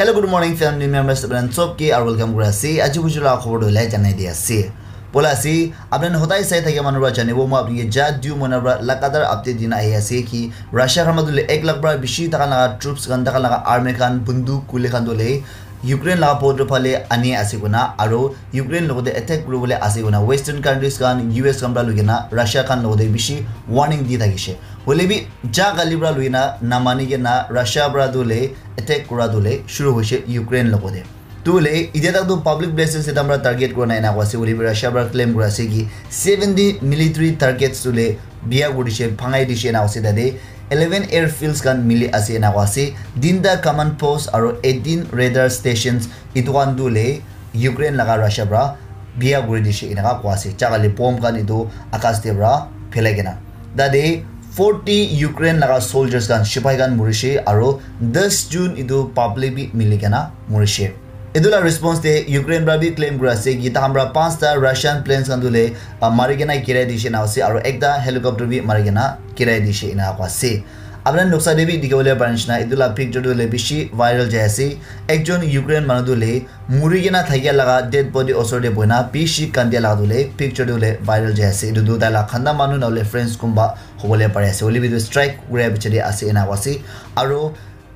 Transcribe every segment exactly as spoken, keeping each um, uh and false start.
Hello, good morning, family members. Apni khan sob ke aru welcome kuri ase. Aji buju la khobor tu lai janai di ase. Bola ase, apni khan hodai sai thakia manu para janibo, moi apni ke ja du mona para lagatar update dina ahi ase ki Russia khan tu le ek lakh para bishi takhan laga troops khan, takhan laga army khan, bunduk, kuli khan tu le Ukraine laga border phale ani ase koina, aru Ukraine logote attack kuribole ase koina Western countries khan, U S khan para loi kena Russia khan logote bishi warning di thakishe. Hoile bi ja gali para loi kena namani kena Russia para tu le attack kura tu le shuru hoishe Ukraine logote. Tu le, itia tak tu public places te tamra target kura nai na kwa ase, hoile bi Russia para claim kura ase ki seventy military targets tu le biya kuri dishe, bhangai dishe na ase tate. Eleven airfields khan mili ase na kwa ase. Tinta command post aru eighteen radar stations itu khan tu le Ukraine laga Russia para biya kuri dishe enaka kwa ase. Chakali bomb khan itu akas te para phelai kena. Tate forty Ukraine laga soldiers khan, sipai khan murishe aru ten June itu public bi mili kena murishe. Etu la response te Ukraine para bi claim kura ase ki takhan para panchta Russian planes khan tu le, ah, mari kena girai dishe na ase aru ekta helicopter bi mari kena girai dishe ena kwa ase. Apni khan noksa te bi dikhi bole pari nishina etu la picture tu le bishi viral jai ase. Ekjon Ukraine manu tu le muri kena thakia laga dead body osor te boina bishi kandia laga tu le picture tu le viral jai ase. Etu tu tai la khanda manu na hole friends kumba hobole pari ase. Hoile bi tu strike kura piche te ase ena kwa ase. Aru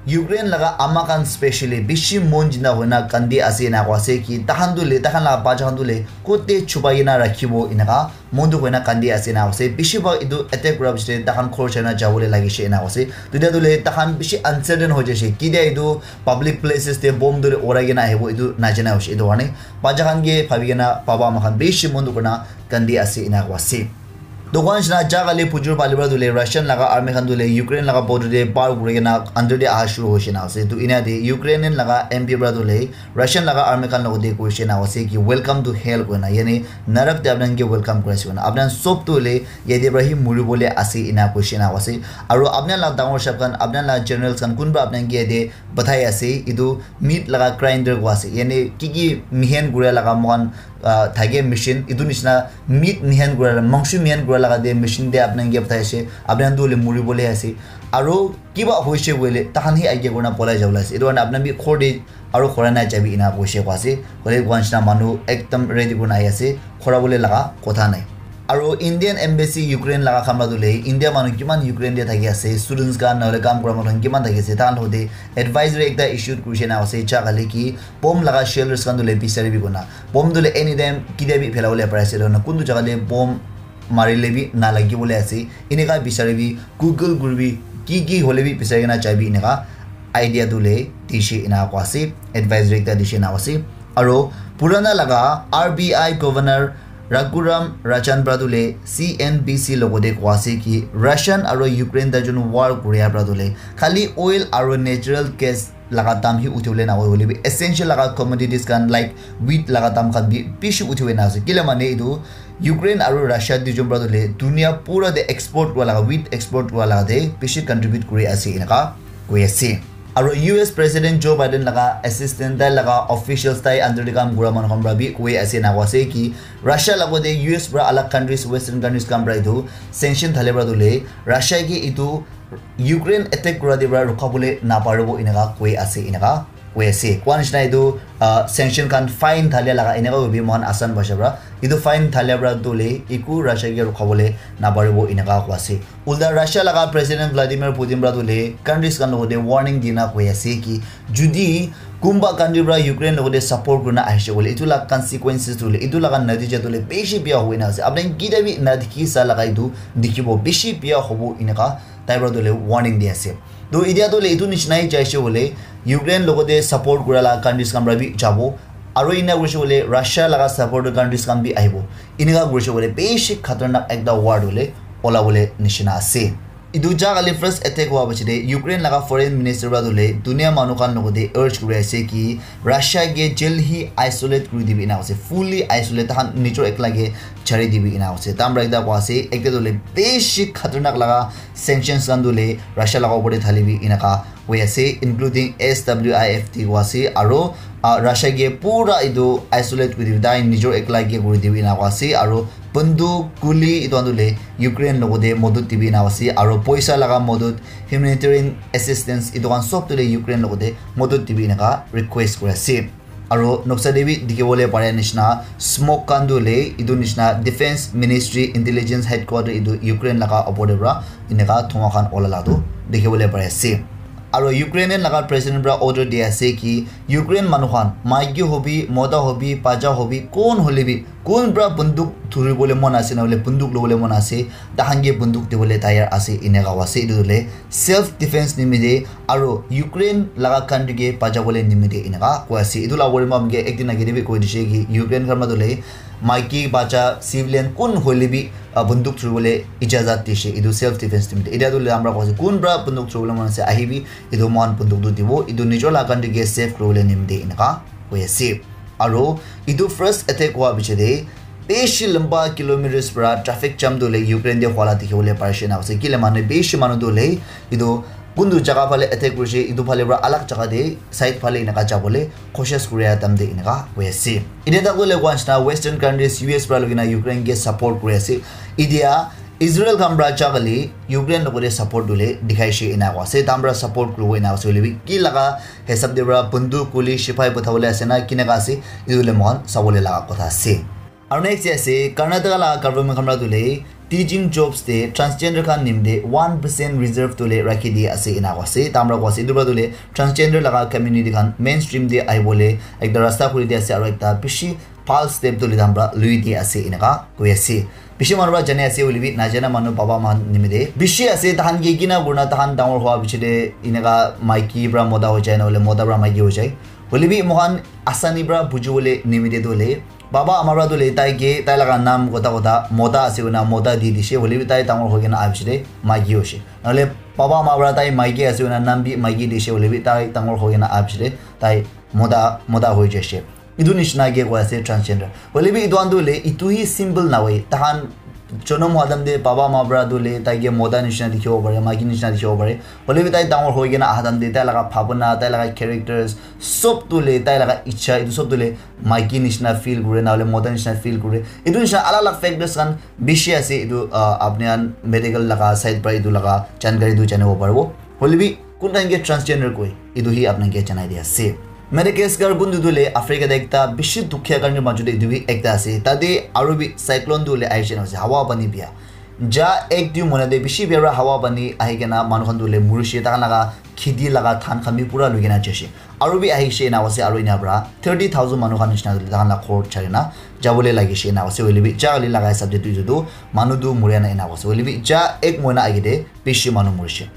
Ukraine laga ama khan specially bishi mon jina hoina kandi ase ena kwa ase ki takhan tu le, takhan laga bacha khan tu le kote chupai kena rakhibo enaka mon tu hoina kandi ase ena kwa ase. Bishi bhag etu attack kura piche te takhan khor chaina jabole lagishe ena kwa ase. Tuita tu le takhan bishi uncertain hoi jaishe. Kitia etu public places te bomb tu le urai kena ahibo etu najana hoishe. Etu karne bacha khan ke bhabi kena baba ama khan bishi mon tu kona kandi ase ena kwa ase. Dukan shina jaga le pujur pali para tu le Russian laga army khan tu le Ukraine laga border te par kuri kena under te aha shuru hoishe na ase. Tu ina te Ukrainian laga M P para tu le Russian laga army khan logote koishe na ase ki welcome to hell koina, yani narak te apni khan ke welcome kuri ase koina. Apni khan sob tu le yate para hi muri bole ase ena koishe na ase. Aru apni khan laga dangor sahab khan, apni khan laga generals khan kunba apni khan ke yate bathai ase, etu meat laga grinder koi ase. Yani ki ki mihen kura laga moikhan, ah, thake machine, etu nishina meat mihen kura, mangso mihen kura laga de machine de apni khan ke bathai ase. Apni khan tu hoile muri bole ase. Aru kiba hoise koile, takhan hi aige kurna polai jabole ase. Etu karne apni khan bi khor de aru khora nai jabi ena koise koi ase. Hoile koi nishina manu ekdam ready kurna ahi ase. Khora bole laga kotha nai. Aru Indian embassy Ukraine laga khan para tu le, India manu kiman Ukraine te thaki ase, students khan, nahole kam kura manu khan kiman thaki ase, tahan logote advisory ekta issued kurishe na ase, ja kali ki bomb laga shelters khan tu le bisari bi kona. Bomb tu le anytime kitia bi phela bole pari ase, na kuntu jaga te bomb marile bi na lagi bole ase, eneka bisari bi, Google kuri bi, ki ki hole bi bisari kena jai bi eneka idea tu le dishe ena koi ase, advisory ekta dishe na ase. Aru purana laga R B I Governor Raghuram Rajan para tu le C N B C logote koi ase ki Russian aru Ukraine ta jun war koria para tu le khali oil aru natural gas laga dam hi uthi bole na hoi, hoile bi essential laga commodities khan like wheat laga dam khan bi bishi uthi bole na ase. Kile mane etu Ukraine aru Russia duijon para tu le dunia pura te export kura laga, wheat export kura laga te bishi contribute kuri ase eneka koi ase. Aru U S President Joe Biden laga assistant, tai laga officials, tai under te kam kura manu khan para bi koi ase na koi ase ki Russia logote U S para alag countries, Western countries khan para etu sanction thale para tu le Russia ke etu Ukraine attack kura te para rukha bole na paribo eneka koi ase, eneka koi ase. Koi nishina etu, ah, sanction khan fine thale laga eneka hobi moikhan asan bhasha para. Etu fine thale para tu le eku Russia ke rukha bole na paribo eneka koi ase. Ulta Russia laga President Vladimir Putin para tu le countries khan logote warning dina koi ase ki judi kunba country para Ukraine logote support kurina ahishe koile, etu la consequences tu le, etu laga natija tu le bishi biya hoi na ase. Apni khan kitia bi na dikhi sa laga etu dikhibo, bishi biya hobo eneka tai para tu le warning di ase. To etia tu le etu nishina hi jaise koile Ukraine logote support kura la countries khan para bi jabo, aru ena kurise koile Russia laga supporter countries khan bi ahibo. Eneka kurise koile bishi khatarnak ekta war tu le ola bole nishina ase. Etu ja kali first attack hua piche te Ukraine laga foreign minister para tu le dunia manu khan logote urge kuri ase ki Russia ke jaldi hi isolate kuri dibi ena ase, fully isolate, tahan nijor ekla ke chari dibi ena ase. Tahan para ekta koi ase, ekta tu le bishi khatarnak laga sanctions khan tu le Russia laga upor te thali bi eneka hoi ase, including S W I F T koi ase, aru ah, Russia ke pura etu isolate kuri dibi, tai nijor ekla ke kuri dibi ena koa ase. Aru banduk, guli etu khan tu le Ukraine logote modot dibi ena koa ase. Aru poisa laga modot, humanitarian assistance etu khan sob tu le Ukraine logote modot dibi eneka request kuri ase. Aru noksa te bi dikhi bole pare nishina smoke khan tu le etu nishina defense ministry intelligence headquarter etu Ukraine laga opor te para eneka dhua khan ola la tu dikhi bole pare ase. Aru Ukrainian laga president para order di ase ki Ukraine manu khan, maiki hobi, mota hobi, bacha hobi, kon hoile bi, kun para banduk dhuri bole mon ase na hoile banduk lobole mon ase, tahan ke banduk dibole tayar ase, eneka koa ase. Etu hoile self defense nimite aru Ukraine laga country ke bacha bole nimite eneka koa ase. Etu la bari ma ke ek din age te bi koi dishe ki Ukraine khan ma tu le maiki, bacha, civilian kun hoile bi, ah, banduk dhuri bole ijazat dishe, etu self defense nimite. Etia tu le amra koa ase, kun para banduk dhuri bole mon ase, ahibi, etu mohan banduk tu dibo, etu nijor laga country ke save kuri bole nimite eneka koi ase. Aru etu first attack hua piche te bishi lamba kilometers para traffic jam tu le Ukraine te hua la dikhi bole pari she na ase. Kile manu bishi manu tu le etu kuntu jaga phale attack kurishe, etu phale para alag jaga te side phale eneka jabole koshish kuri a time te eneka hoi ase. Etia tak tu le koa nishina Western countries U S para loi kena Ukraine ke support kuri ase. Etia Israel khan para jagale Ukraine logote support dule dikhai she ena koa ase. Tahan para support kuribo ena ase hoile bi ki laga hisab te para banduk, guli, sipai patha bole ase na kineka ase, etu le mohan sabole laga kotha ase. Aru next te ase, Karnataka laga government khan para tu le teaching jobs te transgender khan nimite one percent reserve tu le rakhi di ase ena koa ase. Tahan para koa ase, etu para tu le transgender laga community khan mainstream te ahi bole ekta rasta khuli di ase, aru ekta bishi bhal step tu le tahan para lui di ase eneka koi ase. Bishi manu para jani ase hoile bi, najana manu baba man nimite bishi ase. Tahan ke kina kurina tahan dangor hua piche te eneka maiki para mota hoi jai, na hoile mota para maiki hoi jai. Hoile bi mohan asani para buji bole nimite tu le baba ama para tu le tai ke tai laga nam kotha kotha mota ase koina mota di dishe, hoile bi tai dangor hoi kena aha piche te maiki hoishe. Na hoile baba ama para tai maiki ase koina nam bi maiki dishe, hoile bi tai dangor hoi kena aha piche te tai mota, mota hoi jaishe. Etu nishina ke koi ase transgender. Hoile bi etu khan tu le, etu hi symbol na hoi. Tahan jonom hua time te baba ama para tu le, tai ke mota nishina dikhibo pare, maiki nishina dikhibo pare. Hoile bi tai dangor hoi kena aha time te, tai laga bhabana, tai laga characters, sob tu le, tai laga ichha, etu sob tu le, maiki nishina feel kure, na hoile mota nishina feel kure. Etu nishina alag alag factors khan bishi ase. Etu, ah, apni khan medical laga side para etu laga jankari tu janibo paribo. Hoile bi, kun time ke transgender koi, etu hi apni ke janai di ase. Madagascar kuntu tu le Africa te ekta bishi dukhia country majot te etu bi ekta ase. Tate aru bi cyclone tu le ahi jena ase, hawa pani bia. Ja ek dui mahina te bishi bia para hawa pani ahi kena manu khan tu le murishe, tahan laga kheti laga dhan khan bi pura lui kena jaishe. Aru bi ahishe ena ase, aru ena para thirty thousand manu khan nishina tu le tahan la ghor chari na jabole lagishe ena ase. Hoile bi ja kali laga hisab te tu etu tu manu tu muria na ena ase. Hoile bi ja ek mahina age te bishi manu murishe.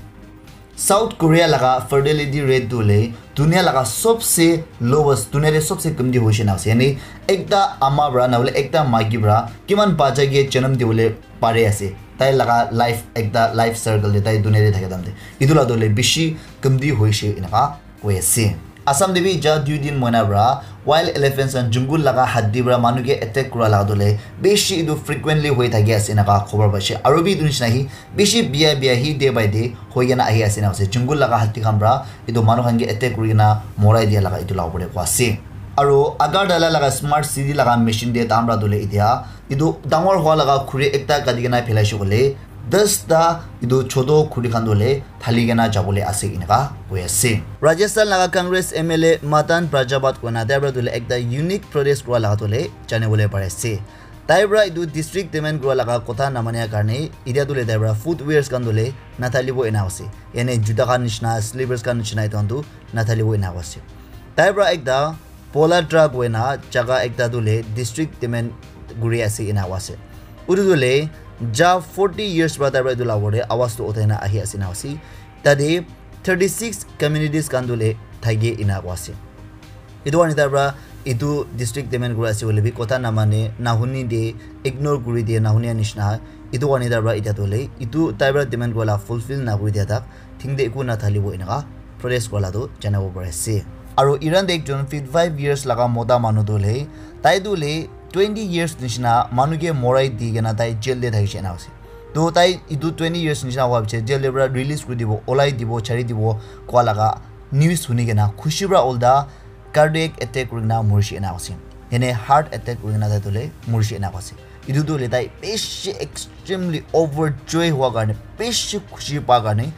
South Korea laga fertility rate tu hoile dunia laga sobse lowest, dunia te sobse kamti hoishe na ase. Yani ekta ama para na hoile ekta maiki para kiman bacha ke janam dibole pare ase. Tai laga life, ekta life circle te, tai dunia te thaka time te. Etu la tu hoile bishi kamti hoishe eneka koi ase. Assam te bi ja dui din mahina para wild elephants and jungle laga hatti para manu ke attack kura laga tu hoile bishi etu frequently hoi thaki ase eneka khobor paishe. Aru bi etu nishina hi bishi bia bia hi day by day hoi kena ahi ase na ase. Jungle laga hatti khan para etu manu khan ke attack kuri kena morai dia laga etu la opor te koi ase. Aru Agartala laga smart city laga machine te tahan para tu hoile etia etu dangor hua laga khuri ekta kati kena phelaishe koile, das ta etu choto khuri khan tu hoile thali kena jabole ase eneka koi ase. Rajasthan laga Congress M L A Madan Pryabhat koina tai para tu hoile ekta unique protest kura laga tu hoile janibole pari ase. Tai para etu district demand kura laga kotha namania karne etia tu hoile tai para footwears khan tu hoile nathalibo ena ase. Yani juta khan nishina, slippers khan nishina etu khan tu nathalibo ena ase. Tai para ekta Pola truck hoina jaga ekta tu hoile district demand kuri ase ena ase. Utu tu hoile ja forty years para tai para etu la opor te awaz tu uthai na ahi ase ena ase. Tate thirty six communities khan tu hoile thake ena ase. Etu karne tai para etu district demand kuri ase hoile bi kotha namane, nahuni de, ignore kuri de, nahunia nishina. Etu karne tai para etia tu hoile etu tai para demand kura la fulfill nakuri dia tak thing te eku nathalibo eneka protest kura la tu janabo pari ase. Aru Iran te ekjon fifty five years laga mota manu tu hoile, tai tu hoile twenty years nishina manu ke morai di kena tai jail te thakishe ena ase. To tai etu twenty years nishina hua piche jail te para release kuri dibo, olai dibo, chari dibo kua laga news huni kena khushi para ulta cardiac attack kurina murisi ena ase, yane heart attack kurina tai tu le murisi ena ase. Etu tu le tai bishi extremely overjoy hua karne, bishi khushi pa karne,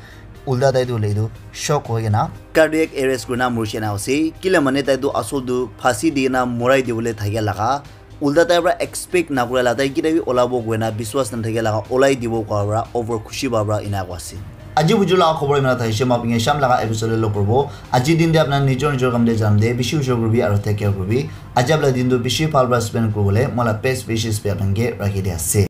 ulta tai tu le etu shock hoi kena cardiac arrest kurina murisi ena ase. Kila mane tai tu asol tu phasi di kena murai dibole thakia laga ulta tai pra expect nakura la tai kita bi olabo koina biswas nathakia laga olai dibo kwa pra over khushi pa pra ena kwa ase. Aji buju laga khobor imana thaise, ma pinge sham laga episode lo korbo. Aji din de apna nijor nijor kam de jam de, bishi ujor kurbi aru take care kurbi. Aji apna din tu bishi bhal pra spend kuribole mola best wishes bi apna ke rakhi de ase.